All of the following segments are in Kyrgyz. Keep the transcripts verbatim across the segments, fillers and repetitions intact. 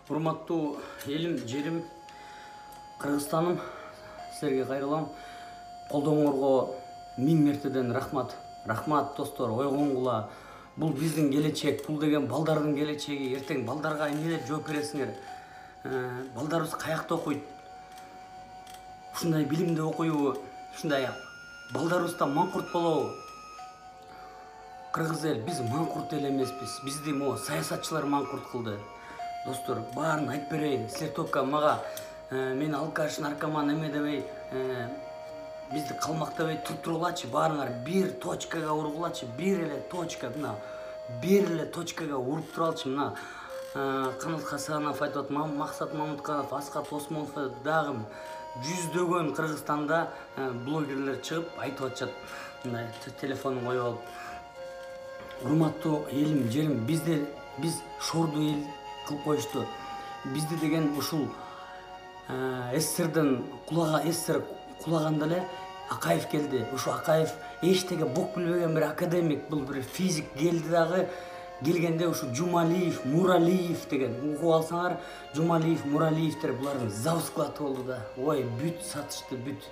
Урматтуу элим, жерим, Кыргызстаным, силерге кайрылам. Колдооңорго миң мертеден рахмат. Рахмат достор, ойгонгула. Бул биздин келечек, бул деген балдардын келечеги. Эртең балдарга эмне деп жооп бересиңер? Балдарыбыз каякта окуйт? Ушундай билимди окуйбу? Ушундай балдарыбыздан маңкурт болобу? Кыргыз эл, биз маңкурт эл эмеспиз. Бизди могу саясатчылар маңкурт кылды. Достор, баарын айтып берейин. Силер только мага мен алкаш, наркоман эме дебей, бизди калмактабай туруп тургулачы. Баарыңар бир точкага ургулачы. Бир эле точка, мына бир эле точкага уруп туралчы. Мына Канат Хасанов айтып атат, Максат Мамутканов, Аскат Осмонов дагы жүздөгөн Кыргызстанда блогерлер чыгып айтып атышат. Мындай телефонун коюп алып. Урматтуу элим, жерим, бизде биз шорду эл кылып коюшту. Бизди деген ушул СССРден кулага СССР кулаганда эле Акаев келди. Ушу Акаев эчтеге бок билбеген бир академик, бул бир физик келди дагы. Келгенде ушу Жумалиев, Муралиев деген угуп алсаңар, Жумалиев, Муралиевтер булардын завсклаты болду да. Ой, бүт сатышты, бүт.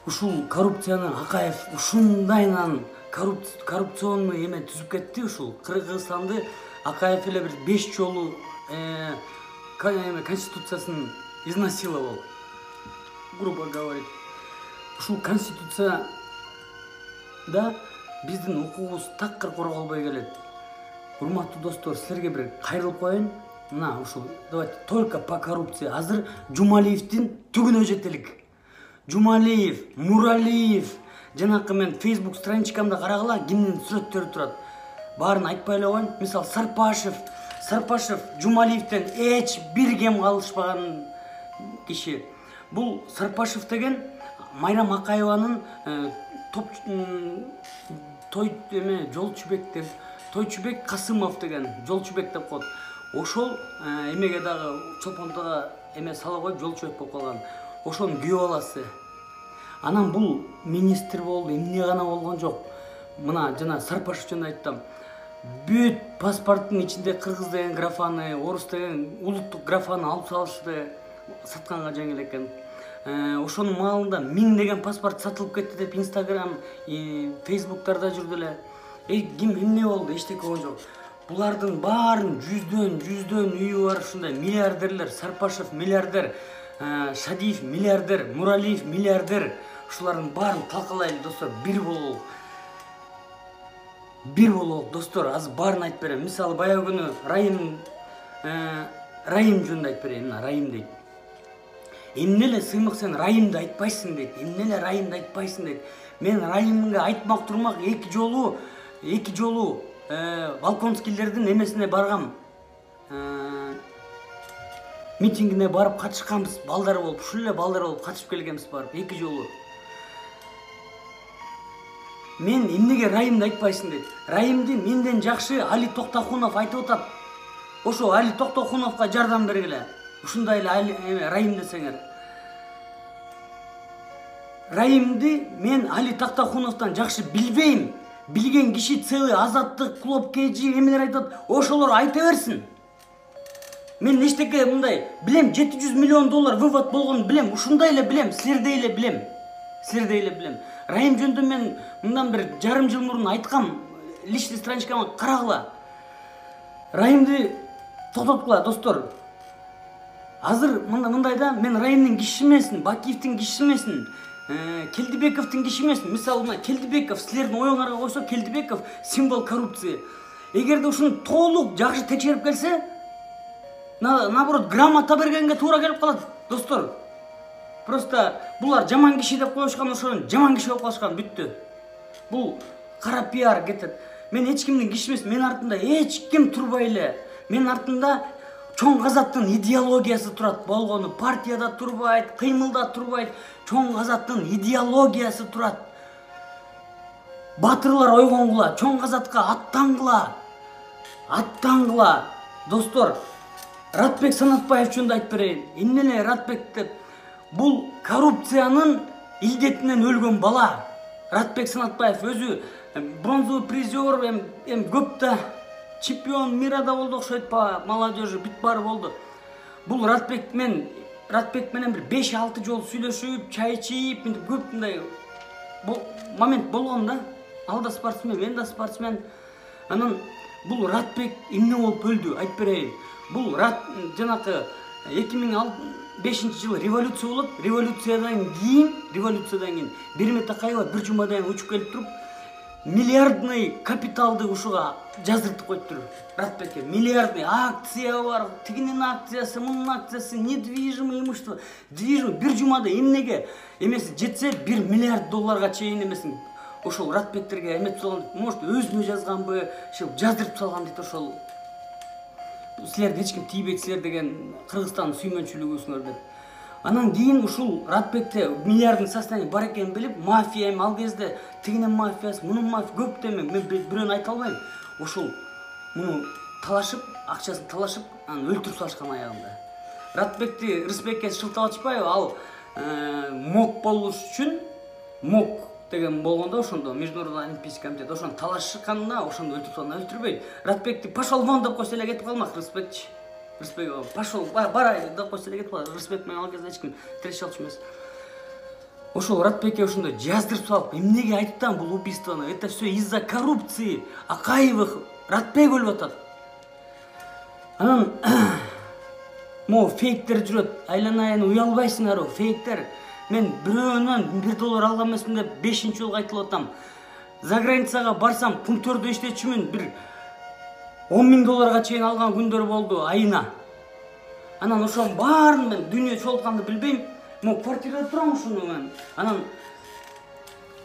Ушул коррупцияны Акаев ушундайынан коррупционный эме түзүп кетти. Ушул Кыргызстанды Акаев эле бир беш жолу конституциясын изнасиловал, грубо говоря. Ушул конституция да биздин укугубуз такыр корголбой келет. Урматтуу достор, силерге бир кайрылып коеюн. Мына ушул давайте только по коррупции. Азыр Жумалиевдин түгүнө жетелик. Жумалиев, Муралиев, жанакы мен Facebook страничкамда карагыла, кимдин сүрөттөрү турат. Баарын айтпай эле коеюн. Мисалы Сарпашев, Сарпашев Жумалиевден эч бир кем калышпаган киши. Бул Сарпашев деген Майрам Акаеванын топ той эме Жолчубек деп, Тойчубек Касымов деген Жолчубек деп коет. Ошол эмеге дагы чолпондого эме сала коюп Жолчубек болуп калган. Ошонун күйөө баласы. Анан бул министр болду, эмне гана болгон жок. Мына жана Сарпашев жөнүндө айттым. Бүт паспорттун ичинде кыргыз деген графаны, орус деген улуттук графаны алып салышты, сатканга жеңил экен. Ошонун маалында миң деген паспорт сатылып кетти деп Instagram, Facebooktарда жүрдү эле. Эй, ким эмне болду? Эчтеке болгон жок. Булардын баарын жүздөн, жүздөн үйү бар ушундай миллиардерлер. Сарпашев миллиардер, Шадиев миллиардер, Муралиев миллиардер. Ушулардын баарын талкалайлы достор, бир бололу. Бир бололу достор, азыр баарын айтып берем. Мисалы баягы күнү Райым Райым жөнүндө айтып берейин. Мына Райым дейт. Эмне эле сыймык сен Райымды айтпайсың дейт. Эмне эле Райымды айтпайсың дейт. Мен Райымга айтмак турмак эки жолу, эки жолу Волконскийлердин эмесине баргам. Митингине барып катышканбыз, балдар болуп, ушул эле балдар болуп катышып келгенбиз барып эки жолу. Мен эмнеге Райымды айтпайсың дейт. Райымды менден жакшы Али Токтохунов айтып атат. Ошо Али Токтохуновго жардам бергиле. Ушундай эле Райым десеңер. Райымды мен Али Токтохуновдон жакшы билбейм. Билген киши целый Азаттык, Клоп Кежи эмелер айтат. Ошолор айта берсин. Мен эчтеке мындай билем, жети жүз миллион доллар вывод болгонун билем. Ушундай эле билем, силердей эле билем. Силердей эле билем. Райым жөнүндө мен мындан бир жарым жыл мурун айткам, личный страничкама карагыла. Райымды токтоткула достор. Азыр мындай да, мен Райымдын кишиси эмесмин, Бакиевдин кишиси эмесмин, Келдибековдун кишиси эмесмин. Мисалы мына Келдибеков, силердин оюңарга койсо, Келдибеков символ коррупции. Эгерде ушуну толук жакшы текшерип келсе, наоборот грамота бергенге туура келип калат достор. Просто булар жаман киши деп коюшкан, ошонун жаман киши болуп калышкан, бүттү. Бул кара пиар кетет. Мен эч кимдин кишиси эмес, мен артында эч ким турбай эле. Мен артында чоң казаттын идеологиясы турат. Болгону партияда турбайт, кыймылда турбайт, чоң казаттын идеологиясы турат. Батырлар ойгонгула, чоң казатка аттангыла. Аттангыла. Достор, Ратбек Санатбаев жөнүндө айтып берейин. Эмне эле Ратбек деп? Бул коррупциянын илдетинен өлгөн бала. Ратбек Санатбаев өзү бронзовый призер, эм көп да чемпион мира да болду окшойт по молодежи, бүт баары болду. Бул Ратбек мен Ратбек менен бир беш алты жолу сүйлөшүп, чай ичип, мынтип көп мындай момент болгон да. Ал да спортсмен, мен да спортсмен. Анан бул Ратбек эмне болуп өлдү, айтып берейин. Бул Рат жанакы эки миң бешинчи жылы революция болот. Революциядан кийин, революциядан кийин Берме Такаева бир жумадан учуп келип туруп, миллиардный капиталды ушуга жаздыртып коюптур. Ратбекке миллиардный акция бар, тигинин акциясы, мунун акциясы, недвижимое имущество, движимое бир жумада эмнеге эмеси жетсе бир миллиард долларга чейин эмесин ошол Ратбектерге эметип салган, может өзүнө жазганбы, ошо жаздырып салган дейт ошол. Силерди эч ким тийбейт силер деген Кыргызстандын сүймөнчүлүгүсүңөр деп. Анан кийин ушул Ратбекте миллиардный состояние бар экенин билип, мафия эми ал кезде тигинин мафиясы, мунун мафия көп деме, мен бирөөнү айта албайм. Ошол муну талашып, акчасын талашып, анан өлтүрүп салышкан аягында. Ратбекти Рысбекке шылтап атышпайбы? Ал МОК болуш үчүн МОК деген болгондо ошондо Международный олимпийский комитет ошону талашканда ошондо өлтүрүп салган, өлтүрбөйт. Ратбекти пошел вон деп койсо эле кетип калмак Рысбекчи. Рысбек пошел барай деп койсо эле кетип калат. Рысбек менен ал кезде эч ким тирешип алчу эмес. Ошол Ратбекке ошондо жаздырып салып, эмнеге айттым бул убийствону? Это все из-за коррупции. Акаевых Ратбек өлүп атат. Анан могу фейктер жүрөт. Айланайын, уялбайсыңарбы? Фейктер. Мен бирөөнөн бир доллар алган эмесмин деп бешинчи жолу айтылып атам. За границага барсам, пунктөрдө иштечүмүн, бир он миң долларга чейин алган күндөр болду айына. Анан ошонун баарын мен дүйнө чогултканды билбейм. Могу квартирада турам ушуну мен. Анан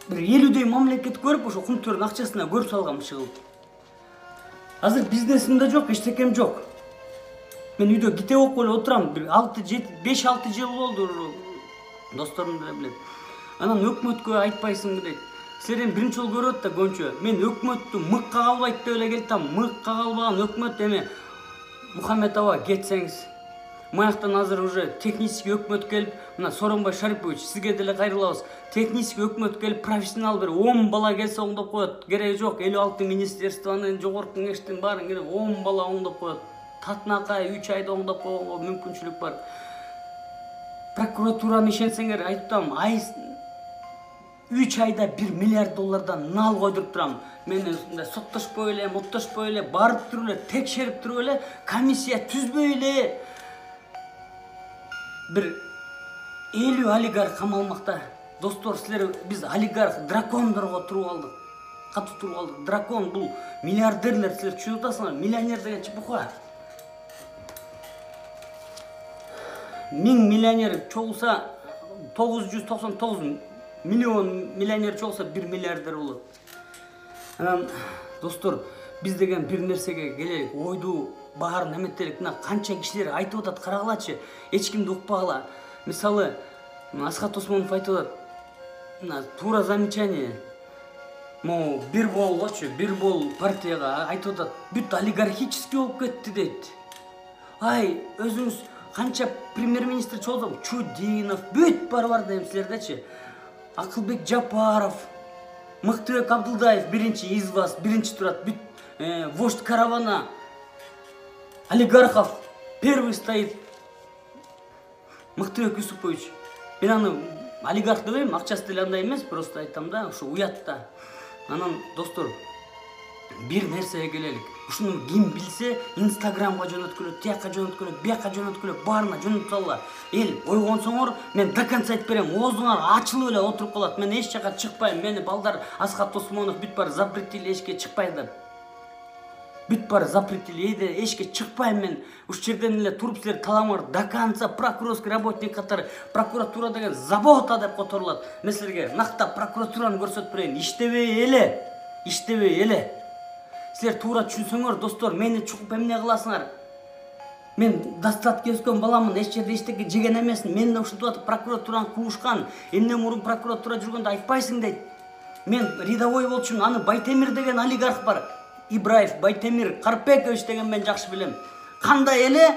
бир элүүдөй мамлекет көрүп, ошо пунктөрдүн акчасына көрүп салгам чыгып. Азыр бизнесим да жок, эчтекем жок. Мен үйдө китеп окуп эле отурам. Бир алты жети беш алты жыл болду. Досторум деле билет. Анан өкмөткө айтпайсыңбы дейт. Силер эми биринчи жолу көрөт да көңчө. Мен өкмөттү мыкка калбайт деп эле келтам. Мыкка калбаган өкмөт эми Мухаммедова кетсеңиз. Маяктан азыр уже технический өкмөт келип, мына Сооронбай Шарипович сизге деле кайрылабыз. Технический өкмөт келип, профессионал бир он бала келсе оңдоп коет. Кереги жок, элүү алты министерствонун, жогорку кеңештин баарын келип он бала оңдоп коет. Татынакай үч айда оңдоп койгонго мүмкүнчүлүк бар. Прокуратураны ишенсеңер, айтам, ай үч айда бир миллиард доллардан нал койдуруп турам. Мен мындай соттошпой эле, моттошпой эле, барып туруп эле, текшерип туруп эле, комиссия түзбөй эле бир элүү олигарх камалмакта. Достор, силер биз олигарх дракондорго туруп алдык. Катуу туруп алдык. Дракон бул миллиардерлер, силер түшүнүп атасыңар? Миллионер деген чыпука. Миң миллионер чогулса тогуз жүз токсон тогуз миллион миллионер чогулса бир миллиардер болот. Анан достор, биз деген бир нерсеге келелик, ойду баарын эметелик. Мына канча кишилер айтып атат, карагылачы, эч кимди укпагыла. Мисалы, Асхат Осмонов айтып атат, мына туура замечание. Могу бир болгочу, бир бол партияга айтып атат, бүт олигархический болуп кетти дейт. Ай, өзүңүз канча премьер-министр чогулдум, Чудинов, бүт бар бар дейм силердечи. Акылбек Жапаров, Мыктыбек Абдылдаев биринчи из вас, биринчи турат, бүт вождь каравана, олигархов первый стоит. Мыктыбек Юсупович. Мен аны олигарх дебейм, акчасы деле андай эмес, просто айтам да, ошо уятта. Анан достор, бир нерсеге келелик. Ушуну ким билсе, Инстаграмга жөнөткүлө, тияка жөнөткүлө, бияка жөнөткүлө, баарына жөнөтүп салла. Эл ойгонсоңор, мен до конца айтып берем, оозуңар ачылып эле отуруп калат. Мен эч жака чыкпайм. Мени балдар Асхат Осмонов бүт бар запретили эчке чыкпай деп. Бүт бар запретили, эйде эчке чыкпайм мен. Уш жерден эле туруп силер таламаңар, до конца прокурорский работник катары. Прокуратура деген забота деп которулат. Мен силерге нактап прокуратураны көрсөтүп берейин. Иштебей эле, иштебей эле. Силер туура түшүнсөңөр, достор, мени чукуп эмне кыласыңар? Мен достатка өскөн баламын, эч жерде эчтеке жеген эмесмин. Мен да ушинтип атып прокуратураны куушкан. Эмне мурун прокуратура жүргөндө айтпайсың дейт. Мен рядовой болчумун, аны Байтемир деген олигарх бар. Ибраев Байтемир Карпекович деген мен жакшы билем. Кандай эле,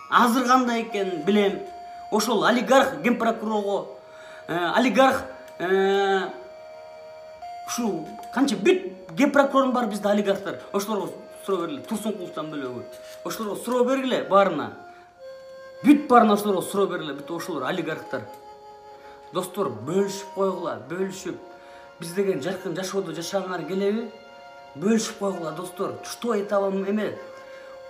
азыр кандай экенин билем. Ошол олигарх генпрокурорго, олигарх ушу канча бүт генпрокурорун бар бизде олигархтар. Ошолорго суроо бергиле, Турсункуловдон бөлөгү. Ошолорго суроо бергиле баарына. Бүт баарына ошолорго суроо бергиле, бүт ошолор олигархтар. Достор, бөлүшүп койгула, бөлүшүп. Биз деген жаркын жашоодо жашагыңар келеби? Бөлүшүп койгула, достор. Что это вам эме?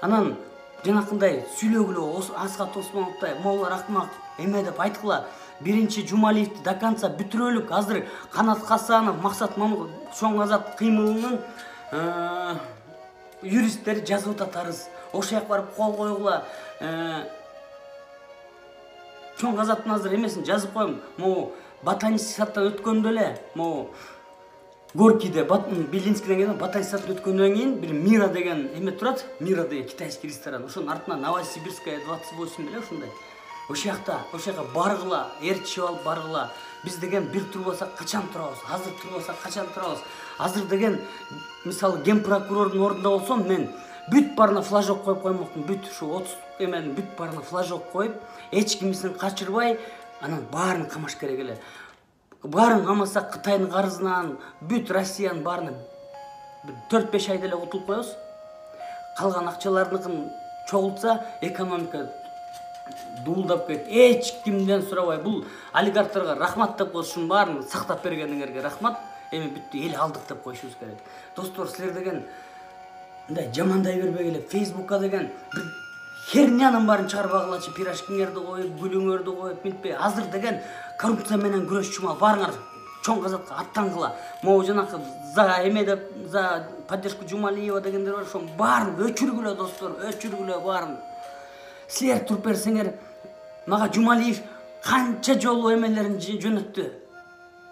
Анан жанакындай сүйлөгүлө, Асхат Осмоновдой, моулар акмак эме деп айткыла. Биринчи Жумалиевди до конца бүтүрөлүк. Азыр Канат Хасанов, Максат Мамыков, Чоң Азат кыймылынын юристтери жазып атат. Ошол жака барып кол койгула. Чоң Азаттын азыр эмесин жазып коем. Могу ботанический садтан өткөндө эле, могу Горкийде, Белинскийден кийин ботанический садтан өткөндөн кийин бир Мира деген эме турат. Мира деген китайский ресторан. Ошонун артынан Новосибирская двадцать восемь беле ушундай. Ошол жакта, ошол жака баргыла, ээрчип алып баргыла. Биз деген бир турбасак качан турабыз? Азыр турбасак качан турабыз? Азыр деген мисалы ген прокурордун ордунда болсом, мен бүт баарына флажок коюп коймокмун. Бүт ушу отуз эменин бүт баарына флажок коюп, эч кимисин качырбай, анан баарын камаш керек эле. Баарын камасак Кытайдын карызынан, бүт Россиянын баарына төрт беш айда эле утулуп коебуз. Калган акчалардыкын чогултса, экономика дуулдап кетет. Эч кимден сурабай, бул олигархтарга рахмат деп коюш, ушунун баарын сактап бергениңерге рахмат. Эми бүттү, эл алдык деп коюшубуз керек. Достор, силер деген мындай жамандай бербегиле. Фейсбукка деген бир хернянын баарын чыгарбагылачы, пирожкиңерди коюп, гүлүңөрдү коюп, мынтпей. Азыр деген коррупция менен күрөш чумал. Баарыңар Чоң Азатка аттангыла. Могу жанакы за эме деп, за поддержку Жумалиева дегендер бар, ошонун баарын өчүргүлө, достор, өчүргүлө баарын. Силер туруп берсеңер, мага Жумалиев канча жолу эмелерин жөнөттү.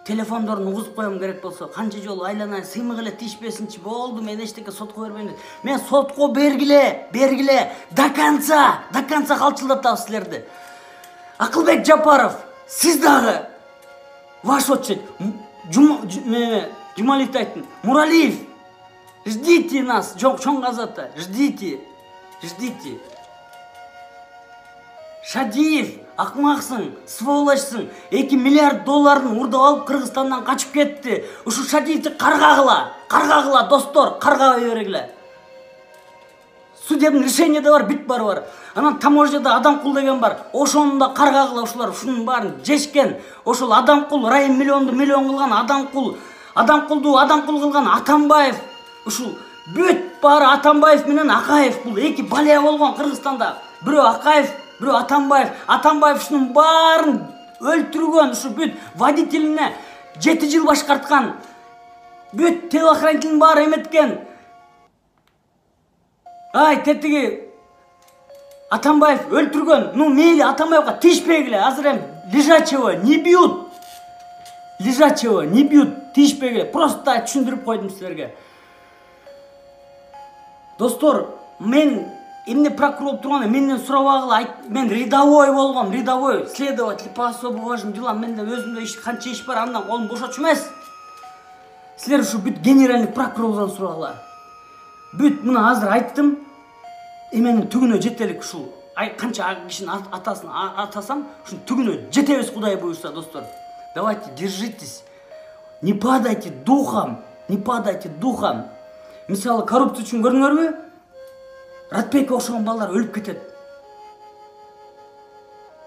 Телефондорун угузуп коем керек болсо, канча жолу айланайын, сыймык эле тишпесинчи, болду, мен эчтеке сотко бербейм деп. Мен сотко бергиле, бергиле, до конца, до конца калчылдатабыз силерди. Акылбек Жапаров, сиз дагы ваш очередь. Жумалиевди айттым. Муралиев, ждите нас, Чоң Азатта, ждите, ждите. Шадиев, акмаксың, сволочсың, эки миллиард долларын урдап алып Кыргызстандан качып кетти. Ушу Шадиевди каргагыла, каргагыла, достор, каргабай бергиле. Судебный решение да бар, бүт баары бар. Анан таможняда Адамкул деген бар. Ошону да каргагыла, ушулар ушунун баарын жешкен. Ошол Адамкул, Райым миллионду миллион кылган Адамкул, Адамкулду Адамкул кылган Атамбаев. Ушул бүт баары Атамбаев менен Акаев. Бул эки балия болгон Кыргызстанда. Бирөө Акаев, бирөө Атамбаев. Атамбаев ушунун баарын өлтүргөн, ушу бүт водителине жети жыл башкарткан. Бүт телохранителин баары эметкен. Ай, тетиги Атамбаев өлтүргөн. Ну, мейли Атамбаевга тишпегиле. Азыр эм лежачего не бьют. Лежачего не бьют, тишпегиле. Просто түшүндүрүп койдум силерге. Достор, мен эмне прокурор турган, менден сурабагыла, мен рядовой болгом, рядовой следователь по особо важным делам. Менде өзүмдө иш канча иш бар, андан колум бошочу эмес. Силер ушу бүт генеральный прокурордон сурагыла. Бүт мына азыр айттым. Эменин түгүнө жетелик ушул. Ай канча кишинин атасын атасам, ушунун түгүнө жетебиз, Кудай буйрса, достор. Давайте, держитесь. Не падайте духом, не падайте духом. Мисалы, коррупция үчүн көрдүңөрбү? Ратбекке окшогон балдар өлүп кетет.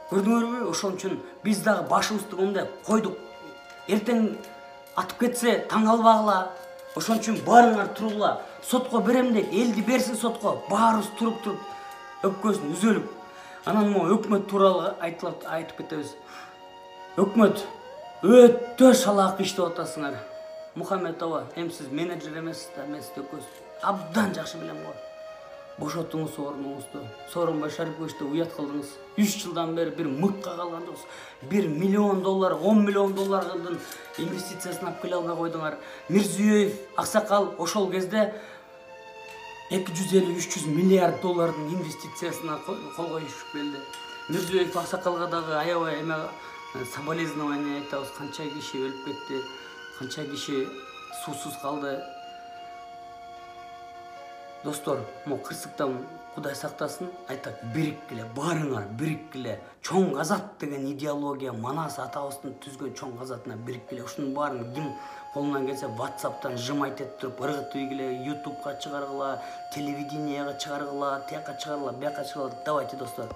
Көрдүңөрбү? Ошон үчүн биз дагы башыбызды мындай койдук. Эртең атып кетсе таң калбагыла. Ошон үчүн баарыңар туругула. Сотко берем дейт, элди берсин сотко. Баарыбыз туруп-туруп, өпкөсүн үзөлүп. Анан могу өкмөт тууралуу айтылып айтып кетебиз. Өкмөт өтө шалаак иштеп атасыңар. Мухаммедова, эми сиз менеджер эмессиз да, мен сизди өкөсүн абдан жакшы билем го. Бошотуңуз орнуңузду. Сооронбай Шариповичти уят кылдыңыз. үч жылдан бери бир мыкка калган жоксуз. бир миллион доллар, он миллион доллардын инвестициясын алып келе албай койдуңар. Мирзиёев, аксакал ошол кезде эки жүз элүү үч жүз миллиард доллардын инвестициясына кол коюшуп келди. Мирзиёев аксакалга дагы аябай эме соболезнование айтабыз. Канча киши өлүп кетти, канча киши суусуз калды. Достор, могу кырсыктан Кудай сактасын. Айтат, бириккиле, баарыңар бириккиле. Чоң Азат деген идеология, Манас атабыздын түзгөн чоң Азатына бириккиле. Ушунун баарын ким колунан келсе WhatsApp'тан жымайт этип туруп ыргытыйгиле, YouTube'га чыгаргыла, телевиденияга чыгаргыла, тияка чыгаргыла, бияка чыгаргыла. Давайте, достор.